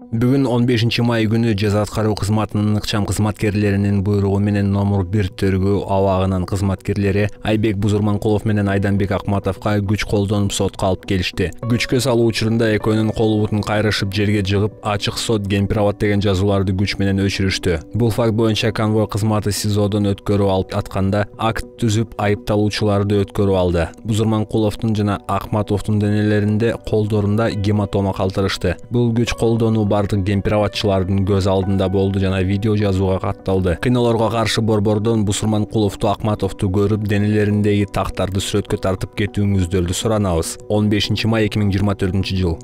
Бүгүн 15 май күнү жаза аткаруу кызматынын ыкчам кызматкерлеринин буйругу менен номер 1 тергөө абагынын кызматкерлери Айбек Бузурманкулов менен Айданбек Акматовго күч колдонуп сотко алып келишти. Күчкө салуу учурунда экөөнүн кол бутун кайрышып жерге жыгып, ачык сот гемпирабад деген жазууларды күч менен өчүрүштү. Бул факт боюнча конвой кызматы СИЗОдон өткөрүп алып атканда акт түзүп айыпталуучуларды өткөрүп алды. Бузурманкуловдун жана Акматовдун денелеринде колдорунда гематома калтырышты. Бул күч колдонуу бардык гемпирабадчылардын көз алдында болду жана видео жазууга катталды. Кыйноолорго каршы борбордон Бузурманкуловду, Акматовду көрүп, денелериндеги тактарды сүрөткө тартып кетүүңүздөрдү суранабыз. 15 май 2024 жыл.